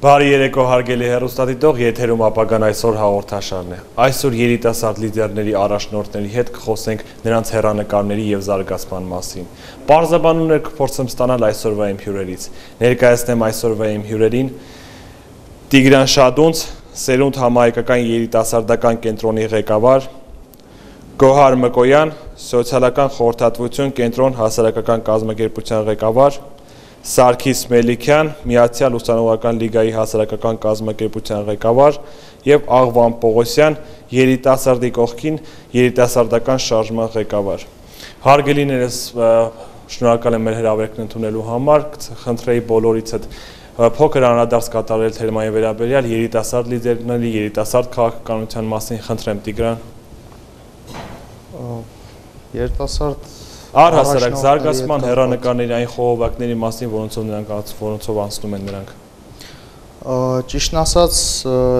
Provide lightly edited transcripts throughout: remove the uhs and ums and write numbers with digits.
Բարի երեկո հարգելի հեռուստադիտող, եթերում ապագան այսօր հաղորդաշարն է։ Այսօր երիտասարդ լիդերների առաջնորդների հետ կխոսենք նրանց հեռանկարների եւ զարգացման մասին։ Պարզաբանումներ կփորձեմ ստանալ այսօրվա իմ հյուրերից։ Ներկայացնեմ այսօրվա իմ հյուրերին Տիգրան Շադունց, Սերունդ համահայկական երիտասարդական կենտրոնի ղեկավար, Գոհար Մկոյան, Սոցիալական խորհրդատվություն կենտրոն հասարակական կազմակերպության ղեկավար, Սարգիս Մելիքյան, Միացյալ ուսանողական լիգայի հասարակական կազմակերպության ղեկավար եւ Աղվան Պողոսյան, երիտասարդի կողքին երիտասարդական շարժման ղեկավար։ Հարգելիներս, շնորհակալ եմ մեր հրավերքն ընդունելու համար, խնդրեի բոլորիցդ փոքր անդրադարձ կատարել թեմայի վերաբերյալ երիտասարդ լիդերների, երիտասարդ քաղաքականության մասին, խնդրեմ Տիգրան։ Երիտասարդ Առհասարակ զարգացման հեռանկարների այն խողովակների մասին, որոնցով անցնում են նրանք։ Ճիշտն ասած,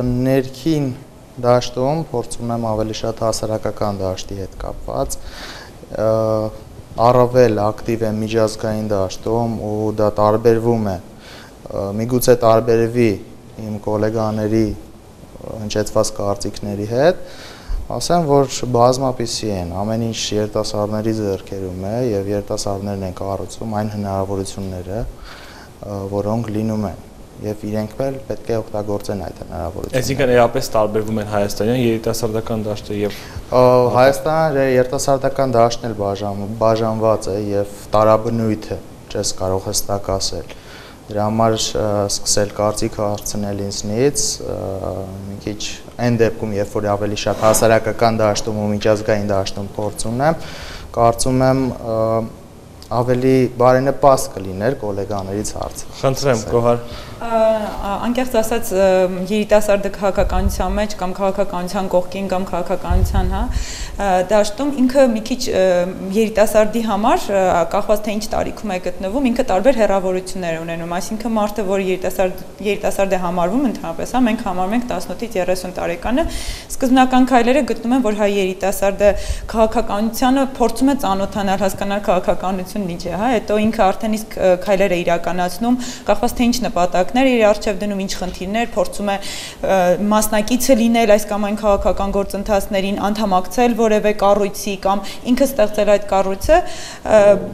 ներքին դաշտում փորձում եմ ավելի շատ հասարակական դաշտի հետ կապված, առավել ակտիվ եմ միջազգային դաշտում ու դա տարբերվում է, միգուցե տարբերվի իմ գոլեգաների հնչեցված կարծիքների հետ, ասեմ, որ բազմապիսի են, ամեն ինչ երիտասարդների ձեռքերում է եւ երիտասարդներն են կառուցում այն հնարավորությունները, որոնք լինում են եւ իրենք էլ պետք է օգտագործեն այդ հնարավորությունները։ Այսինքն էապես տարբերվում են հայաստանյան երիտասարդական դաշտը եւ Հայաստանը երիտասարդական դաշտն էլ բաժանված է եւ տարաբնույթ է, չես կարող հստակ ասել։ Դրա համար սկսել կարծիք հարցնել ինձնից մի քիչ այն դեպքում, երբ որ ավելի շատ հասարակական դաշտում ու միջազգային դաշտում փորձ ունեմ, կարծում եմ ավելի բարենպաստ կլիներ գոլեգաներից հարցը։ Խնդրեմ, Գոհար։ Անկեղծ ասած երիտասարդը քաղաքականության մեջ կամ քաղաքականության կողքին կամ քաղաքականության, դաշտում ինքը մի քիչ երիտասարդի համար կախված թե ինչ տարիքում է գտնվում, ինքը տարբեր հեռավորություններ ունենում, այսինքն մարդը, որ երիտասարդ է համարվում ընդհանրապես, մենք համարում ենք 18-ից 30 տարեկանը, սկզբնական քայլերը գտնում են, որ հայ երիտասարդը քաղաքականությանը փորձում է ծանոթանալ, հասկանալ քաղաքականությունն ինչ է, հետո ինքը արդեն իսկ քայլեր է իրականացնում, կախված թե ինչ նպատակներ իր առջև դնում, ինչ խնդիրներ, փորձում է մասնակիցը լինել այս կամ այն քաղաքական գործընթացներին, անդամակցել որևէ կառույցի կամ ինքը ստեղծել այդ կառույցը,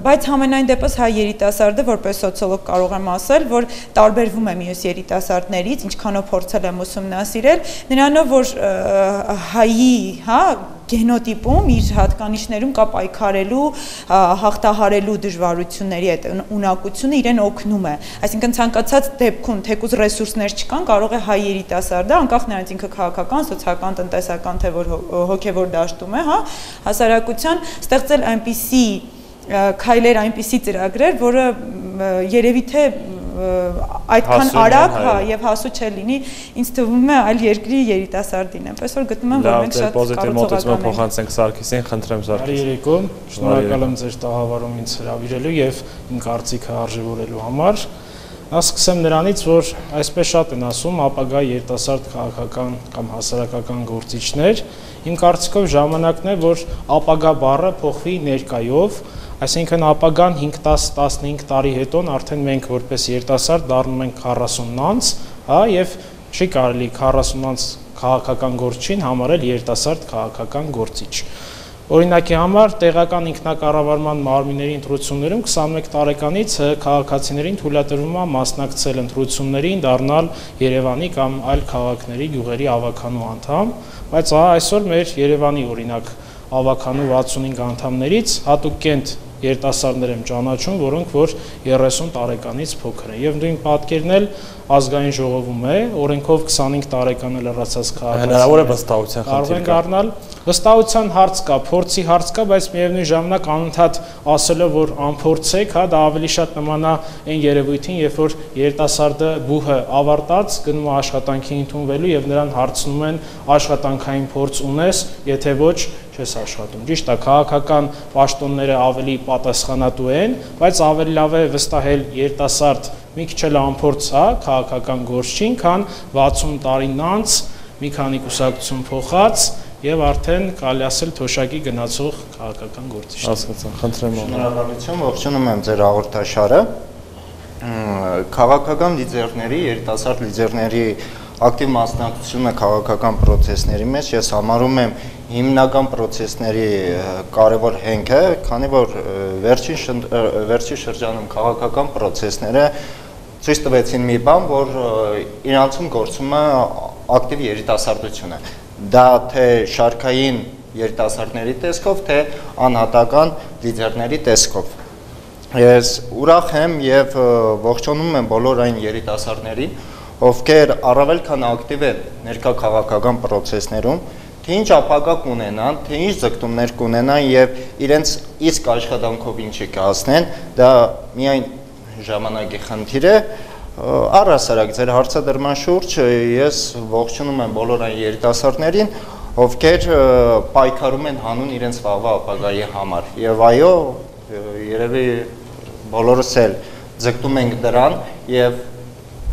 բայց համենայն դեպս հայ երիտասարդը, որպես սոցիոլոգ կարող եմ ասել, որ տարբերվում է մյուս երիտասարդներից, ինչքանով փորձել եմ ուսումնասիրել, նրանով, որ հայի, գենոտիպում իր հատկանիշներում կա պայքարելու, հաղթահարելու դժվարությունների այդ ունակությունը իրեն օգնում է։ Այսինքն ցանկացած դեպքում, թեկուզ ռեսուրսներ չկան, կարող է հայ երիտասարդը, անկախ նրանից ինքը քաղաքական, սոցիալական, տնտեսական, թե որ հոգևոր դաշտում է, հասարակության ստեղծել այնպիսի քայլեր, այնպիսի ծրագրեր, որը երևի թե այդքան արագ եւ հասու չլինի, ինձ թվում է այլ երկրի երիտասարդին, այնպես որ գտնում եմ, որ մենք շատ կառուցողական ենք։ Փոխանցենք Սարգիսին, խնդրեմ Սարգիս։ Բարի երեկո, շնորհակալ եմ ձեր տաղավարում ինձ հրավիրելու եւ իմ կարծիքը արժևորելու համար։ Սկսեմ նրանից, որ այսպես շատ են ասում ապագա երիտասարդ քաղաքական կամ հասարակական գործիչներ, իմ կարծիքով ժամանակն է, որ ապագա բառը փոխվի ներկայով, այսինքն ապագան 5-10-15 տարի հետո արդեն մենք որպես երիտասարդ դառնում ենք 40-անց, եւ չի կարելի 40-անց քաղաքական գործչին համարել երիտասարդ քաղաքական գործիչ։ Օրինակի համար տեղական ինքնակառավարման մարմինների ընտրություններում 21 տարեկանից քաղաքացիներին թույլատրվում է մասնակցել ընտրություններին, դառնալ Երևանի կամ այլ քաղաքների գյուղերի ավականու անդամ, բայց այսօր մեր Երևանի օրինակ ավականու 65 անդամներից հատուկենտ երիտասարդներ եմ ճանաչում, որոնք որ 30 տարեկանից փոքր են։ Եվ նույն պատկերն էլ ազգային ժողովում է, օրենքով 25 տարեկան լրացած քաղաքացիներ հնարավոր է վստահության խնդիր դառնալ։ Վստահության հարց կա, փորձի հարց կա, բայց միևնույն ժամանակ անընդհատ ասելով, որ անփորձեք, դա ավելի շատ նմանա այն երևույթին, երբ որ երիտասարդը բուհը ավարտած գնում է աշխատանքի ընդունվելու եւ նրան հարցնում են աշխատանքային փորձ ունես, եթե ոչ չես աշխատում։ Ճիշտ է, քաղաքական պաշտոնները ավելի պատասխանատու են, բայց ավելի լավ է վստահել երիտասարդ մի քիչ էլ անփորձ, հա, քաղաքական գործչին, քան 60 տարին անց մի քանի կուսակցություն փոխած եւ արդեն կարելի ասել թոշակի գնացող քաղաքական գործիչ։ Հասկացա, խնդրեմ։ Շնորհակալություն, ողջունում եմ ձեր հաղորդաշարը։ Քաղաքական լիդերների, երիտասարդ լիդերների ակտիվ մասնակցությունը քաղաքական process-ների մեջ ես համարում եմ հիմնական process-ների կարևոր հենքը, քանի որ վերջին շրջանում քաղաքական process-ները ցույց տվեցին մի բան, որ իրանցում գործում է ակտիվ երիտասարդությունը։ Դա թե շարքային երիտասարդների տեսքով, թե անհատական լիդերների տեսքով։ Ես ուրախ եմ եւ ողջունում եմ բոլոր այն երիտասարդներին, ովքեր առավել քան ակտիվ են ներկա քաղաքական process-ներում, թե ինչ ապագա կունենան, թե ինչ ձգտումներ կունենան եւ իրենց իսկ աշխատանքով ինչի կհասնեն, դա միայն ժամանակի խնդիր է։ Առհասարակ ձեր հարցադրման շուրջ ես ողջունում եմ բոլոր այն երիտասարդներին, ովքեր պայքարում են հանուն իրենց վաղվա ապագայի համար։ Եվ այո, երևի բոլորս էլ ձգտում ենք դրան եւ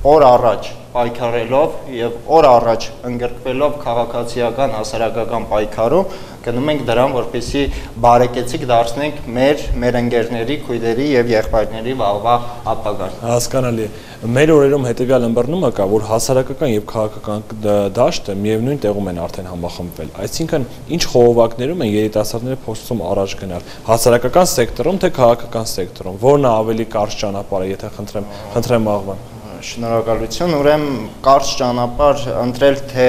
օր առաջ պայքարելով եւ օր առաջ ընդգրկվելով քաղաքացիական հասարակական պայքարում գնում ենք դրան, որպեսզի բարեկեցիկ դարձնենք մեր ընկերների, քույրերի եւ եղբայրների վաղվա ապագան։ Հասկանալի է։ Մեր օրերում հետեւյալ ըմբռնումը կա, որ հասարակական եւ քաղաքական դաշտը միևնույն տեղում են արդեն համախմբվել։ Այսինքն, ինչ խողովակներում են երիտասարդները փորձում առաջ գնալ, հասարակական սեկտորում թե քաղաքական սեկտորում, որն է ավելի կարճ ճանապարհը, եթե խնդրեմ աղվան։ Շնորհակալություն, ուրեմն կարճ ճանապարհ ընտրել թե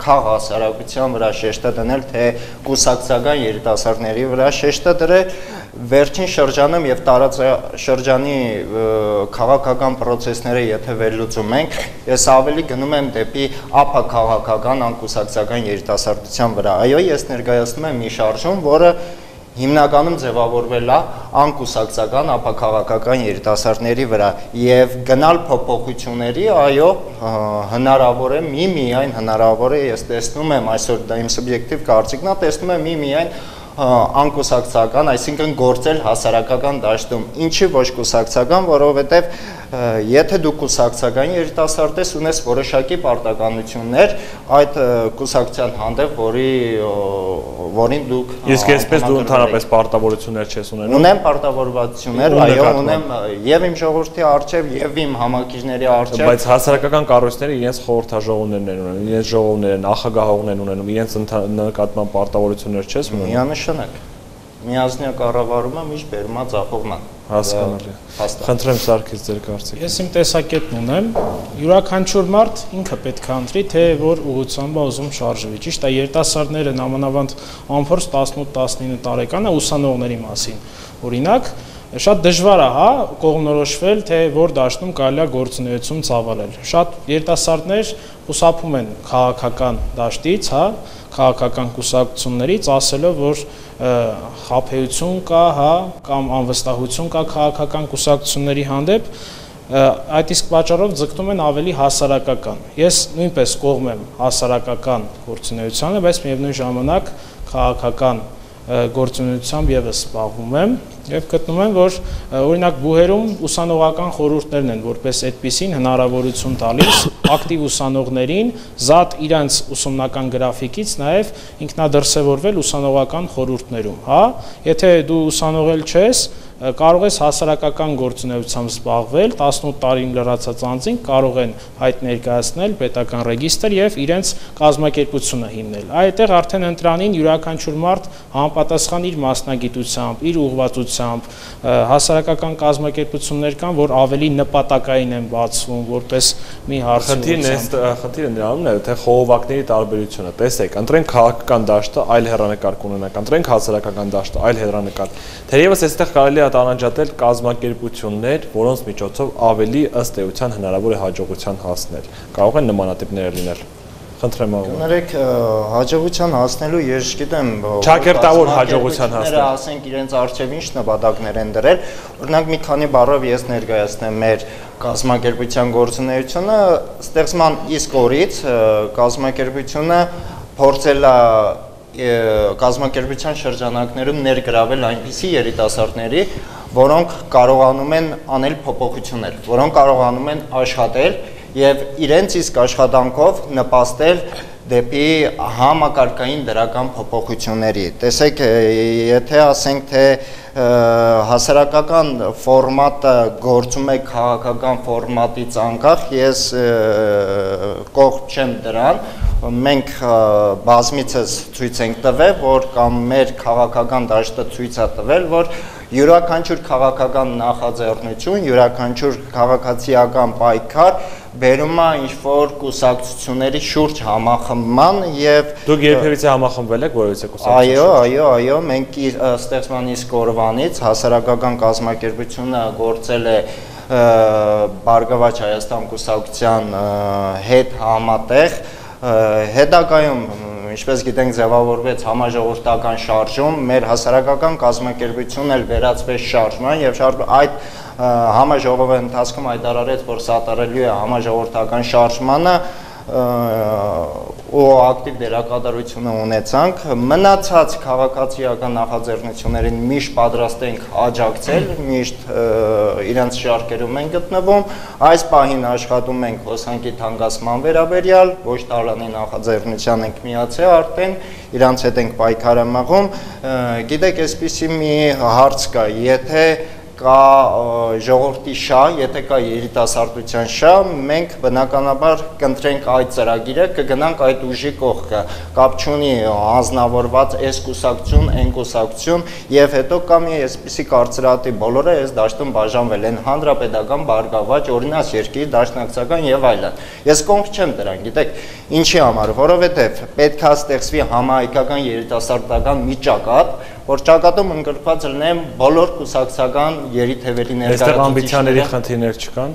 քաղաքասարակության վրա շեշտը դնել, թե կուսակցական երիտասարդների վրա շեշտը դրել, վերջին շրջանում եւ տարածաշրջանի քաղաքական process-ները եթե վերլուծում ենք, ես ավելի գնում եմ դեպի ապաքաղաքական անկուսակցական երիտասարդության վրա։ Այո, ես ներկայացնում եմ մի շարժում, որը հիմնականում ձևավորվել է անկուսակցական ապաքաղաքական երիտասարդների վրա եւ գնալ փոփոխությունների, այո, հնարավոր է, միայն հնարավոր է, ես տեսնում եմ այսօր դա իմ սուբյեկտիվ կարծիքն է, տեսնում եմ միայն անկուսակցական, այսինքն գործել հասարակական դաշտում, ինչի ոչ կուսակցական, որովհետև եթե դու կուսակցական երիտասարդ ես, ունես որոշակի պարտականություններ այդ կուսակցության հանդեպ, որին դուք Իսկ այսպես դու ընդհանրապես պարտավորություններ չես ունենում։ Ունեմ պարտավորվածություններ, այո, ունեմ եւ իմ ժողովրդի առջեւ եւ իմ համակիրների առջեւ։ Բայց հասարակական կառույցները իրենց խորհրդաժողովներն են ունենում, իրենց ժողովները, նախագահողներն ունենում, իրենց նկատմամբ պարտավորություններ չես ունենում։ Միանշանակ։ Միազնյա կառավարումը միշտ բերում է ձախողման։ Հասկանալի։ Խնդրեմ Սարգիս ձեր կարծիքը։ Ես իմ տեսակետն ունեմ, յուրաքանչյուր մարդ ինքը պետք է ընտրի, թե որ ուղղությամբ է ուզում շարժվի։ Ճիշտ է, երիտասարդները նամանավանդ անփորձ 18-19 տարեկան է ուսանողների մասին։ Օրինակ, շատ դժվար է, հա, կողմնորոշվել, թե որ դաշտում կարելի է գործունեություն ծավալել։ Շատ երիտասարդներ խուսափում են քաղաքական դաշտից, հա, քաղաքական կուսակցություններից, ասելով, որ խաբեություն կա, հա, կամ անվստահություն կա քաղաքական կուսակցությունների հանդեպ, այդ իսկ պատճառով ձգտում են ավելի հասարակական։ Ես նույնպես կողմ եմ հասարակական գործունեությանը, բայց միևնույն ժամանակ քաղաքական գործունեությամբ եւս զբաղվում եմ եւ գտնում եմ, որ օրինակ բուհերում ուսանողական խորհուրդներն են, որպես այդպիսին հնարավորություն տալիս ակտիվ ուսանողներին զատ իրանց ուսումնական գրաֆիկից նաեւ ինքնադրսևորվել ուսանողական խորհուրդներում, հա, եթե դու ուսանողել չես, կարող ես հասարակական գործունեությամբ զբաղվել, 18 տարին լրացած անձին կարող են հայտ ներկայացնել պետական ռեգիստր եւ իրենց կազմակերպությունը հիմնել։ Այդտեղ արդեն ընտրանին յուրաքանչյուր մարդ համապատասխան իր մասնագիտությամբ, իր ուղղվածությամբ, հասարակական կազմակերպություններ կան, որ ավելի նպատակային են բացվում, որպես մի Խնդիրը նրանումն է, թե խողովակների տարբերությունը։ Տեսեք, ընտրենք քաղաքական դաշտը, այլ հեռանկար կունենանք, ընտրենք հասարակական դաշտը, այլ հեռանկար։ Թերևս այստեղ կարելի է տարանջատել կազմակերպություններ, որոնց միջոցով ավելի ըստ էության հնարավոր է հաջողության հասնել։ Կարող են նմանատիպներ լինել։ Խնդրեմ աղոտ։ Կներեք, հաջողության հասնելու ես գիտեմ, ճակերտավոր հաջողության հասնել։ Ասենք իրենց արժեվ ինչ նպատակներ են դրել։ Օրինակ մի քանի բառով ես ներկայացնեմ մեր կազմակերպության գործունեությունը, ստեղծման իսկ օրից կազմակերպությունը փորձել է կազմակերպության շրջանակներում ներգրավել այնպիսի երիտասարդների, որոնք կարողանում են անել փոփոխություններ, որոնք կարողանում են աշխատել եւ իրենց իսկ աշխատանքով նպաստել դեպի համակարգային դրական փոփոխությունների։ Տեսեք, եթե ասենք թե հասարակական ֆորմատը գործում է քաղաքական ֆորմատից անկախ, ես կողմ չեմ դրան, մենք բազմիցս ցույց ենք տվել, որ կամ մեր քաղաքական դաշտը ցույց է տվել, որ յուրաքանչյուր քաղաքական նախաձեռնություն, յուրաքանչյուր քաղաքացիական պայքար բերում է ինչ-որ կուսակցությունների շուրջ համախմբման եւ Դուք երբևիցե համախմբվել եք որևիցե կուսակցություն։ Այո, մենք ստեղծման իսկ օրվանից հասարակական կազմակերպությունը գործել է Բարգավաճ Հայաստան կուսակցության հետ համատեղ, հետագայում ինչպես գիտենք ձևավորվեց համաժողովրդական շարժում, մեր հասարակական կազմակերպությունն էլ վերածվեց շարժման եւ այդ համաժողովի ընթացքում հայտարարեց, որ սատարելու է համաժողովրդական շարժմանը ու ակտիվ դերակատարությունը ունեցանք, մնացած քաղաքացիական նախաձեռնություններին միշտ պատրաստ ենք աջակցել, միշտ իրենց շարքերում են գտնվում, այս պահին աշխատում ենք հոսանքի թանկացման վերաբերյալ, ոչ տարանի նախաձեռնության ենք միացել արդեն, իրանց հետ ենք պայքարը մղում, գիտեք, այսպիսի մի հարց կա, եթե կա ժողովրդի շահ, եթե կա երիտասարդության շահ, մենք բնականաբար կընտրենք այդ ծրագիրը, կգնանք այդ ուժի կողքը, կապ չունի անձնավորված այս կուսակցություն, այն կուսակցություն, եւ հետո կա մի այսպիսի կարծրատիպ, բոլորը այս դաշտում բաժանվել են հանրապետական, բարգավաճ, օրինաց երկիր, դաշնակցական եւ այլն։ Ես կողմ չեմ դրան, գիտեք, ինչի համար, որովհետեւ պետք է ստեղծվի համահայկական երիտասարդական մի ճակատ, որ ճակատում ընդգրկված լինեն բոլոր կուսակցական երիթևերի ներկայացուցիչները։ Այստեղ ամբիցիաների խնդիրներ չկան։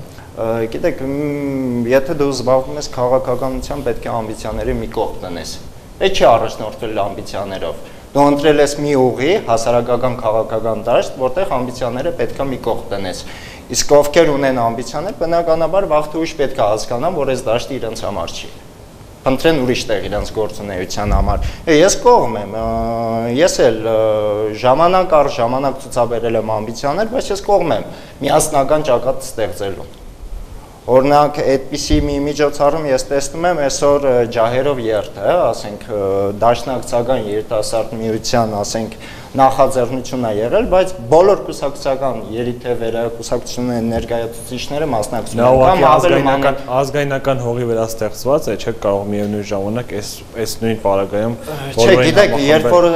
Գիտեք, եթե դու զբաղվում ես քաղաքականությամբ, պետք է ամբիցիաների մի կողմ տնես։ Այդ չի առաջնորդվել ամբիցիաներով։ Դու ընտրել ես մի ուղի, հասարակական քաղաքական դաշտ, որտեղ ամբիցիաները պետք է մի կողմ տնես։ Իսկ ովքեր ունեն ամբիցիաներ, բնականաբար վաղ թե ուշ պետք է հասկանան, որ այս դաշտը իրենց համար չի։ Ընտրեն ուրիշ տեղ իրենց գործունեության համար։ Ես կողմ եմ, ես էլ ժամանակ առ ժամանակ ցուցաբերել եմ ամբիցիաներ, բայց ես կողմ եմ միասնական ճակատ ստեղծելու։ Օրինակ, այդպիսի մի միջոցառում ես տեսնում եմ այսօր ջահերով երթ, ասենք դաշնակցական երիտասարդ միության, ասենք նախաձեռնություն է եղել, բայց բոլոր կուսակցական երիթևերը, կուսակցությունների ներկայացուցիչները մասնակցում են։ Ազգայնական հողի վրա ստեղծված է, չեք կարող միևնույն ժամանակ այս նույն պարագայում Չէ, գիտեք, երբ որ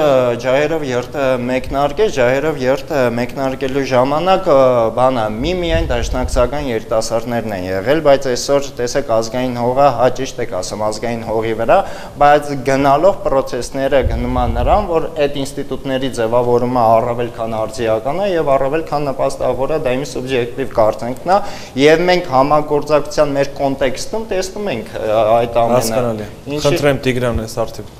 ջահերով երթը մեկնարկեց, ջահերով երթը մեկնարկելու ժամանակ բանը միայն դաշնակցական երիտասարդներն են եղել, բայց այսօր տեսեք ազգային հողը, ճիշտ եք ասում, ազգային հողի վրա, բայց գնալով process-ները գնում են նրան, որ այդ ինստիտուտների ձևավորումը առավել քան արձիական է եւ առավել քան նպաստավոր է, դա իմ սուբյեկտիվ կարծիքն է, եւ մենք համագործակցության մեր կոնտեքստում տեսնում ենք այդ ամենը։ Հասկանալի։ Խնդրեմ Տիգրան, այս արդյոք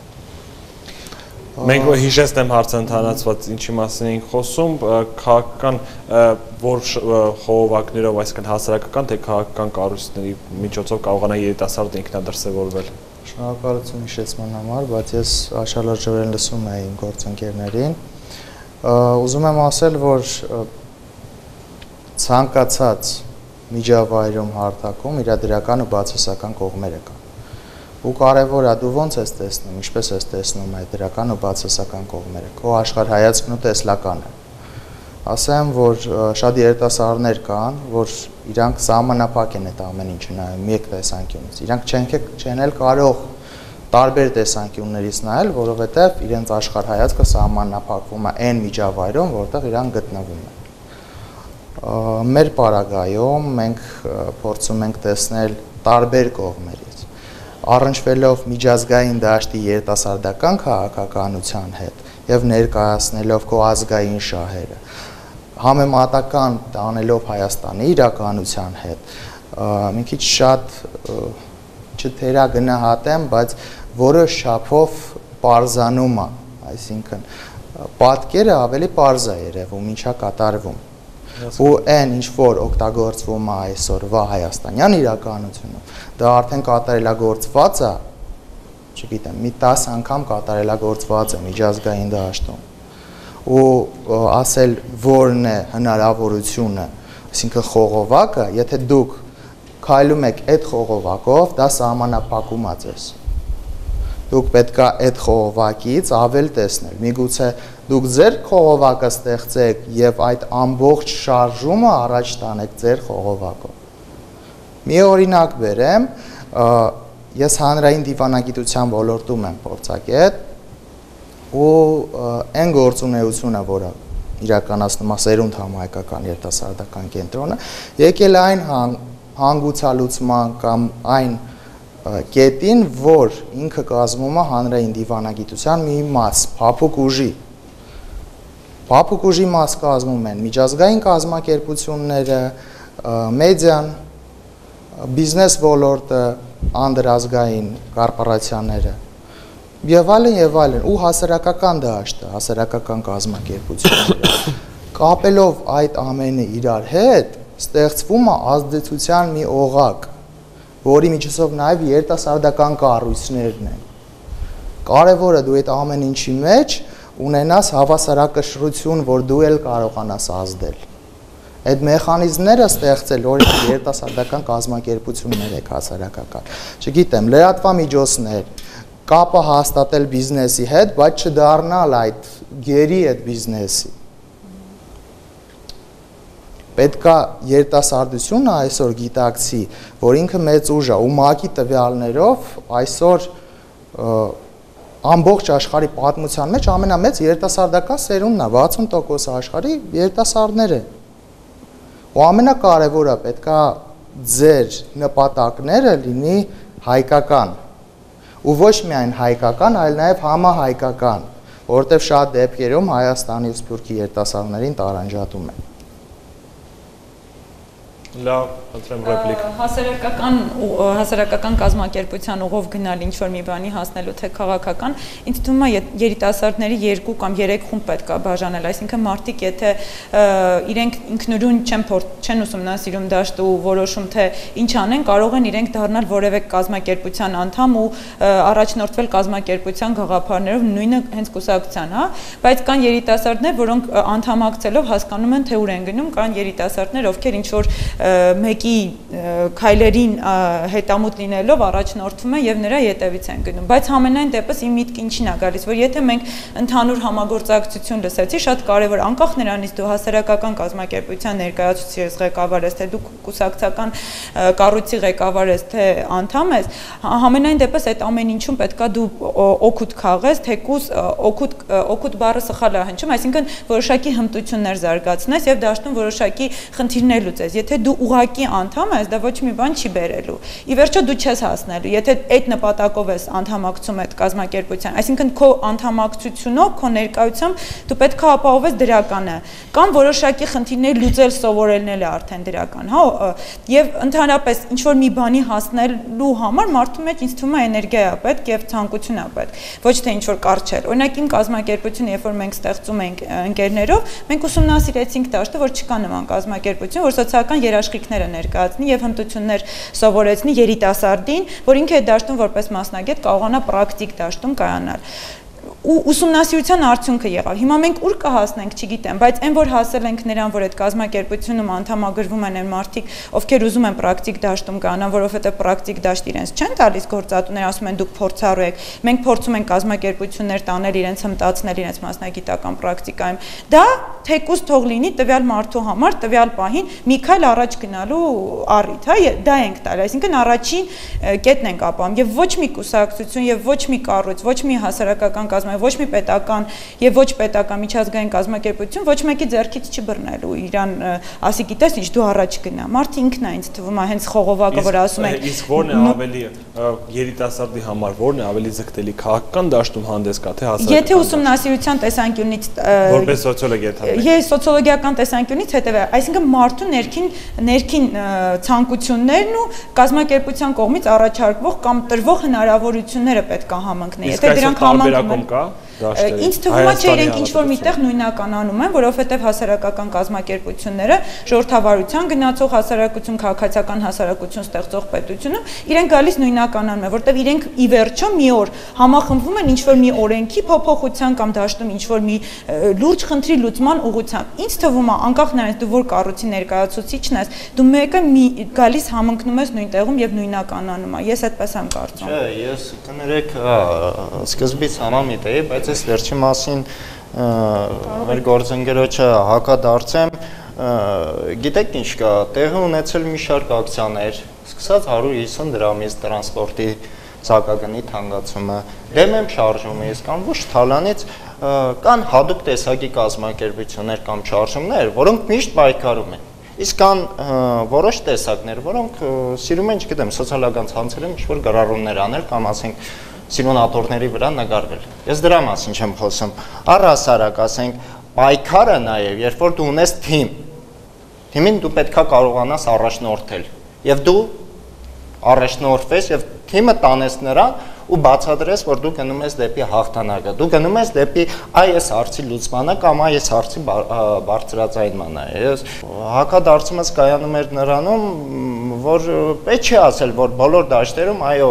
մենք հիշեցնեմ հարցը ընդհանրացված ինչի մասին ենք խոսում, քաղաքական որ խողովակներով, այսինքն հասարակական թե քաղաքական կառույցների միջոցով կարողանա երիտասարդը ինքնադրսևորվել։ Շնորհակալություն հիշեցման համար, բայց ես աշալրջորեն լսում էի իմ գործընկերներին։ Ուզում եմ ասել, որ ցանկացած միջավայրում հարթակում իր դրական ու բացասական կողմերը կան։ Ու կարևոր է դու ոնց ես տեսնում, ինչպես ես տեսնում այդ դրական ու բացասական կողմերը։ Քո աշխարհայացքն ու տեսլականը։ Ասեմ, որ շատ երիտասարդներ կան, որ իրանք սահմանափակ են այդ ամեն ինչը նայում մեկ տեսանկյունից։ Իրանք չեն էլ կարող տարբեր տեսանկյուններից նայել, որովհետև իրենց աշխարհայացքը սահմանափակվում է այն միջավայրում, որտեղ իրանք գտնվում են։ Մեր պարագայում մենք փորձում ենք տեսնել տարբեր կողմերից, առնչվելով միջազգային դաշտի երիտասարդական քաղաքականության հետ եւ ներկայացնելով քո ազգային շահերը, համեմատական տանելով Հայաստանի իրականության հետ, մի քիչ շատ չթերագնահատեմ, բայց որոշ չափով պարզանում է, այսինքն պատկերը ավելի պարզ է երևում, ինչա կատարվում։ Ու այն ինչ որ օգտագործվում է այսօրվա հայաստանյան իրականությունում, դա արդեն կատարելագործված է չգիտեմ, մի 10 անգամ կատարելագործված է միջազգային դաշտում։ Ու ասել որն է հնարավորությունը, այսինքն խողովակը, եթե դուք քայլում եք այդ խողովակով, դա սահմանափակում է ձեզ։ Դուք պետք է այդ խողովակից ավել տեսնել։ Միգուցե դուք ձեր խողովակը ստեղծեք եւ այդ ամբողջ շարժումը առաջ տանեք ձեր խողովակով։ Մի օրինակ բերեմ, ես հանրային դիվանագիտության ոլորտում եմ փորձագետ ու այն գործունեությունը, որը իրականացնում է Սերունդ համահայկական երիտասարդական կենտրոնը, եկել է այն հանգուցալուծման կամ այն կետին, որ ինքը կազմում է հանրային դիվանագիտության մի մաս, փափուկ ուժի։ Փափուկ ուժի մաս կազմում են միջազգային կազմակերպությունները, մեդիան, բիզնես ոլորտը, անդրազգային կորպորացիաները եւ այլն, ու հասարակական դաշտը, հասարակական կազմակերպությունները։ Կապելով այդ ամենը իրար հետ, ստեղծվում է ազդեցության մի օղակ, որի միջոցով նաեւ երիտասարդական կառույցներն են։ Կարևորը դու այդ ամեն ինչի մեջ ունենաս հավասարակշռություն, որ դու էլ կարողանաս ազդել։ Այդ մեխանիզմները ստեղծել օրինակ երիտասարդական կազմակերպություններ եք հասարակական։ Չգիտեմ, լրատվամիջոցներ, կապը հաստատել բիզնեսի հետ, բայց չդառնալ այդ գերի այդ բիզնեսի։ Պետք է երիտասարդությունը այսօր գիտակցի, որ ինքը մեծ ուժ է ու ՄԱԿ-ի տվյալներով այսօր ամբողջ աշխարհի պատմության մեջ ամենամեծ երիտասարդական սերունդն է, 60% աշխարհի երիտասարդներ են։ Ու ամենակարևորը պետք է ձեր նպատակները լինի հայկական։ Ու ոչ միայն հայկական, այլ նաև համահայկական, որովհետև շատ դեպքերում Հայաստանի ու Սփյուռքի երիտասարդներին տարանջատում են։ Լավ, խնդրեմ ռեպլիկ։ Հասարակական կազմակերպության ուղով գնալ ինչ-որ մի բանի հասնելու թե քաղաքական, ինձ թվում է երիտասարդների 2 կամ 3 խումբ պետք է բաժանել, այսինքն մարդիկ, եթե իրենք ինքնուրույն չեն ուսումնասիրում դաշտը ու որոշում թե ինչ անեն, կարող են իրենք դառնալ որևէ կազմակերպության անդամ ու առաջնորդվել կազմակերպության գաղափարներով, նույնը հենց կուսակցության, հա, բայց կան երիտասարդներ, որոնք անդամակցելով հասկանում են, թե ուր են գնում, կան երիտասարդներ, ովքեր ինչ-որ մեկի քայլերին հետամուտ լինելով առաջնորդվում են եւ նրա ետևից են գնում, բայց համենայն դեպս իմ միտքը ինչին է գալիս, որ եթե մենք ընդհանուր համագործակցություն լսեցի, շատ կարեւոր, անկախ նրանից դու հասարակական կազմակերպության ներկայացուցիչ ես, ղեկավար ես, թե դու կուսակցական կառույցի ղեկավար ես, թե անդամ ես, համենայն դեպս այդ ամեն ինչում պետքա դու օգուտ քաղես, թեկուզ օգուտ բառը սխալ է հնչում, այսինքն որոշակի հմտություններ զարգացնես եւ դաշտում որոշակի խնդիրներ լուծես, եթե դու ուղակի անդամ ես, դա ոչ մի բան չի բերելու։ Ի վերջո դու չես հասնելու, եթե այդ նպատակով ես անդամակցում այդ կազմակերպության, այսինքն քո անդամակցությունով, քո ներկայությամբ դու պետք է ապահովես դրականը, կամ որոշակի խնդիրներ լուծել սովորելն էլ է արդեն դրական, հա, եւ ընդհանրապես ինչ որ մի բանի հասնելու համար մարդու մեջ ինձ թվում է էներգիա է պետք եւ ցանկություն է պետք, ոչ թե ինչ որ կարճել։ Օրինակ իմ կազմակերպությունը, երբ որ մենք ստեղծում ենք ընկերներով, մենք ուսումնասիրեցինք դաշտը, որ չկա նման կազմակերպություն, որ սոցիալական երաշխիքները ներկայացնի եւ հմտություններ սովորեցնի երիտասարդին, որ ինքը այդ դաշտում որպես մասնագետ կարողանա պրակտիկ դաշտում կայանալ։ Ու ուսումնասիրության արդյունքը եղավ։ Հիմա մենք ուր կհասնենք, չգիտեմ, բայց այն որ հասել ենք նրան, որ այդ կազմակերպությունում անդամագրվում են այն մարդիկ, ովքեր ուզում են պրակտիկ դաշտում կանան, որովհետեւ պրակտիկ դաշտ իրենց չեն տալիս գործատուները, ասում են դուք փորձառու եք։ Մենք փորձում ենք կազմակերպություններ տանել իրենց հմտացնել իրենց մասնագիտական պրակտիկայում։ Դա թեկուզ թող լինի տվյալ մարդու համար, տվյալ պահին մի քայլ առաջ գնալու առիթ, հա, դա ենք տալի, այսինքն առաջին կետն ենք ապահովում եւ ոչ մի կուսակցություն եւ ոչ մի կառույց, ոչ մի հասարակական ոչ մի պետական եւ ոչ պետական միջազգային կազմակերպություն ոչ մեկի ձեռքից չբռնելու իրան, ասի գիտես ինչ դու առաջ գնա։ Մարդը ինքն է ինձ թվում է հենց խողովակը, որ ասում են։ Իսկ ո՞րն է ավելի երիտասարդի համար, ո՞րն է ավելի ձգտելի քաղաքական դաշտում հանդես գա, թե հասարակական։ Եթե ուսումնասիրության տեսանկյունից որպես սոցիոլոգ եթե։ Ես սոցիոլոգիական տեսանկյունից հետեւե, այսինքն մարդու ներքին ցանկություններն ու կազմակերպության կողմից առաջարկվող կամ տրվող հնարավորությունները պետք է համընկնեն։ Եթե դրանք համընկնում են, Ինձ թվում է չէ իրենք ինչ-որ միտեղ նույնականանում են, որովհետև հասարակական կազմակերպությունները ժողովրդավարության գնացող հասարակություն, քաղաքացիական հասարակություն ստեղծող պետությունում իրենք գալիս նույնականանում են, որովհետև իրենք ի վերջո մի օր համախմբվում են ինչ-որ մի օրենքի փոփոխության կամ դաշտում ինչ-որ մի լուրջ խնդրի լուծման ուղղությամբ։ Ինձ թվում է, անկախ նրանից դու որ կառույցի ներկայացուցիչն ես, դու մեկը գալիս համընկնում ես նույն տեղում եւ նույնականանում ես։ Ես այդպես եմ կարծում։ Չէ, ես կներեք սկզբից համամիտ էի, բայց այս վերջի մասին մեր գործընկերոջը հակադարձեմ, գիտեք ինչ կա, տեղի ունեցել մի շարք ակցիաներ, սկսած 150 դրամից տրանսպորտի ցակագնի թանկացումը, դեմ եմ շարժումը, ես կամ ոչ թալանից կան հատուկ տեսակի կազմակերպություններ կամ շարժումներ, որոնք միշտ պայքարում են։ Իսկ կան որոշ տեսակներ, որոնք սիրում են, չգիտեմ, սոցիալական ցանցերում ինչ-որ գրառումներ անել կամ ասենք սիմուլատորների վրա նկարվել։ Ես դրա մասին չեմ խոսում։ Առհասարակ, ասենք, պայքարը նաև, երբ որ դու ունես թիմին դու պետքա կարողանաս առաջնորդել, եւ դու առաջնորդվես եւ թիմը տանես նրան ու բացատրես, որ դու գնում ես դեպի հաղթանակը, դու գնում ես դեպի այս հարցի լուծմանը կամ այս հարցի բարձրաձայնմանը։ Ես հակադարձումս կայանում էր նրանում, որ պետք չէ ասել, որ բոլոր դաշտերում այո,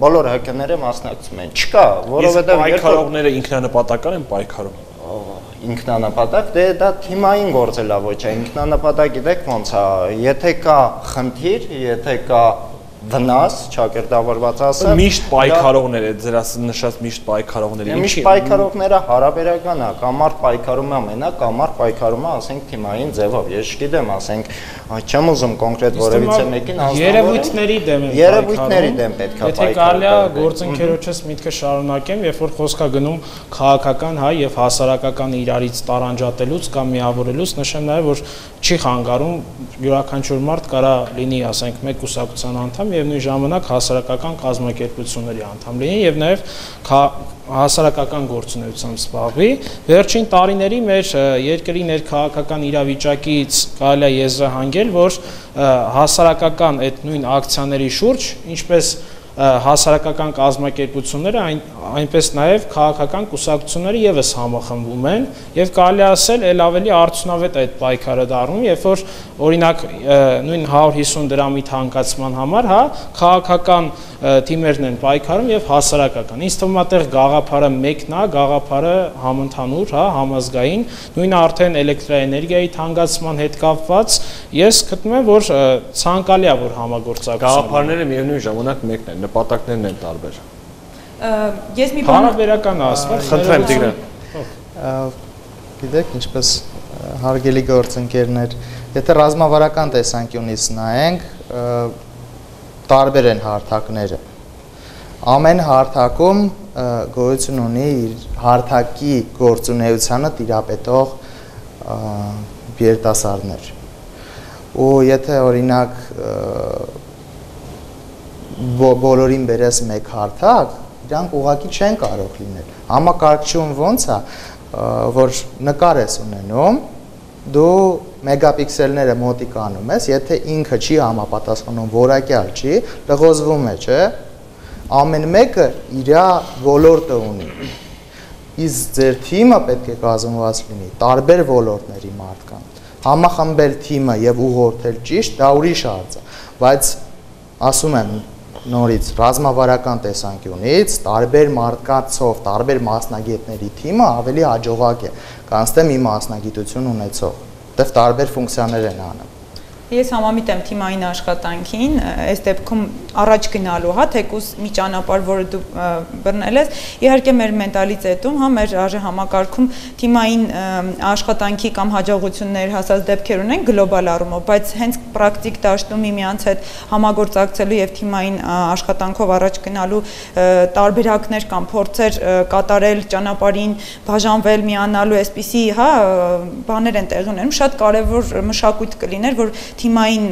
բոլոր ՀԿ-ները մասնակցում են։ Չկա, որովհետև պայքարողները ինքնանպատական են պայքարում։ Ինքնանպատակ, դե դա թիմային գործելավոճ է, ինքնանպատակ գիտեք ոնց է, եթե կա խնդիր, եթե կա վնաս, ճակերտավորված ասեմ, միշտ պայքարողներ է, ձեր նշած միշտ պայքարողները։ Միշտ պայքարողները հարաբերական է, կամարդ պայքարում է մենակ, կամարդ պայքարում է, ասենք թիմային ձևով։ Ես չգիտեմ, ասենք, չեմ ուզում կոնկրետ որևիցե մեկին երևույթների դեմ են երևույթների դեմ պետք է պայքարել։ Եթե կարելի է գործընկերոջս միտքը շարունակեմ, երբ որ խոսք է գնում քաղաքական հայ եւ հասարակական իրարից տարանջատելուց կամ միավորելուց, նշեմ նաեւ, որ չի խանգարում յուրաքանչյուր մարդ կարա լինի, ասենք, մեկ կուսակցության անդամ եւ նույն ժամանակ հասարակական կազմակերպությունների անդամ լինի եւ նաեւ հասարակական գործունեությամբ զբաղվի։ Վերջին տարիների մեր երկրի ներքաղաքական իրավիճակից կարելի է եզրահանգել, որ հասարակական այդ նույն ակցիաների շուրջ, ինչպես հասարակական կազմակերպությունները, այնպես նաև քաղաքական կուսակցությունները եւս համախմբում են եւ կարելի ասել ել ավելի արդյունավետ այդ պայքարը դառնում, երբ որ օրինակ նույն 150 դրամի թանկացման համար, հա, քաղաքական թիմերն են պայքարում եւ հասարակական։ Ինձ թվում է այդտեղ գաղափարը մեկն է, գաղափարը համընդհանուր, հա, համազգային, նույնը արդեն էլեկտրաէներգիայի թանկացման հետ կապված, ես գտնում եմ, որ ցանկալի է, որ համագործակցություն։ Գաղափարները միևնույն ժամանակ մեկն են, նպատակներն են տարբեր։ Ես մի բան հարաբերական ասված, խնդրեմ Տիգրան։ Գիտեք, ինչպես հարգելի գործընկերներ, եթե ռազմավարական տեսանկյունից նայենք, տարբեր են հարթակները։ Ամեն հարթակում գոյություն ունի իր հարթակի գործունեությանը տիրապետող երիտասարդներ։ Ու եթե օրինակ բոլորին բերես մեկ հարթակ, իրանք ուղղակի չեն կարող լինել։ Համակարգչում ոնց է, որ նկար ես ունենում, դու մեգապիքսելները մոտիկանում ես, եթե ինքը չի համապատասխանում, որակյալ չի, լղոզվում է, չէ։ Ամեն մեկը իր ոլորտը ունի։ Իսկ ձեր թիմը պետք է կազմված լինի տարբեր ոլորտների մարդկանց։ Համախմբել թիմը եւ ուղղորդել ճիշտ, դա ուրիշ հարց է, բայց ասում եմ նորից ռազմավարական տեսանկյունից տարբեր մարդկանցով, տարբեր մասնագետների թիմը ավելի հաջողակ է, քան թե մի մասնագիտություն ունեցող, որտեղ տարբեր ֆունկցիաներ են անում։ Ես համամիտ եմ թիմային աշխատանքին, այս դեպքում առաջ գնալու, հա, թեկուզ մի ճանապարհ, որը դու բռնել ես, իհարկե մեր մենտալիտետում, հա, մեր համակարգում թիմային աշխատանքի կամ հաջողություններ հասած դեպքեր ունեն գլոբալ առումով, բայց հենց պրակտիկ դաշտում միմյանց հետ համագործակցելու եւ թիմային աշխատանքով առաջ գնալու տարբերակներ կամ փորձեր կատարել ճանապարհին, բաժանվել, միանալու, այսպիսի, հա, բաներ են տեղի ունենում, շատ կարեւոր մշակույթ կլիներ, որ թիմային